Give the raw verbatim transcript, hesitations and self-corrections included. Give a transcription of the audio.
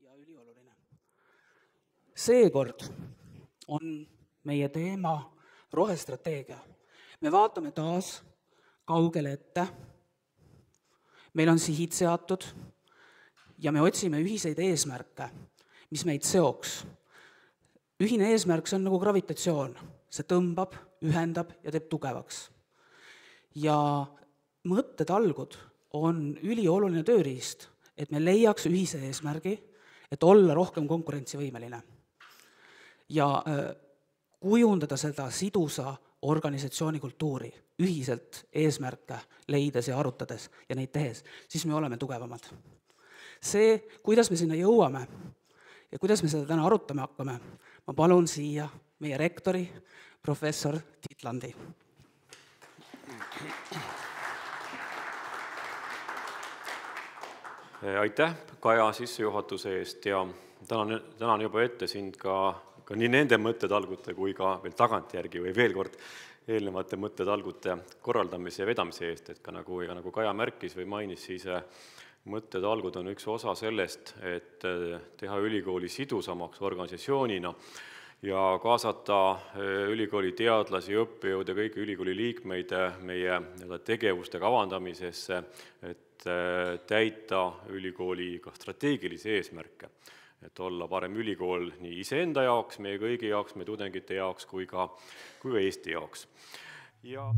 ja ülioluline. Seekord on meie teema rohestrateegia. Me vaatame taas kaugele ette, meil on sihid seatud ja me otsime ühiseid eesmärke, mis meid seoks. Ühine eesmärk, see on nagu gravitatsioon, see tõmbab, ühendab ja teeb tugevaks. Ja mõttetalgud on ülioluline tööriist, et me leiaks ühise eesmärgi, et olla rohkem konkurentsivõimeline ja kujundada seda sidusa organisatsiooni kultuuri, ühiselt eesmärke leides ja arutades ja neid tehes, siis me oleme tugevamad. See, kuidas me sinna jõuame ja kuidas me seda täna arutama hakkame, ma palun siia meie rektori, professor Tiit Landi. Aitäh, Kaja, sissejuhatuse eest ja tänan, tänan juba ette sind ka, ka nii nende mõttetalgute kui ka veel tagantjärgi või veel kord eelnevate mõttetalgute korraldamise ja vedamise eest, et ka nagu, ja nagu Kaja märkis või mainis, siis mõttetalgud on üks osa sellest, et teha ülikooli sidusamaks organisatsioonina ja kaasata ülikooli teadlasi, õppejõude, kõiki ülikooli liikmeid meie tegevuste kavandamisesse, et täita ülikooli ka strateegilisi eesmärke, et olla parem ülikool nii iseenda jaoks, meie kõigi jaoks, meie tudengite jaoks kui ka, kui ka Eesti jaoks. Ja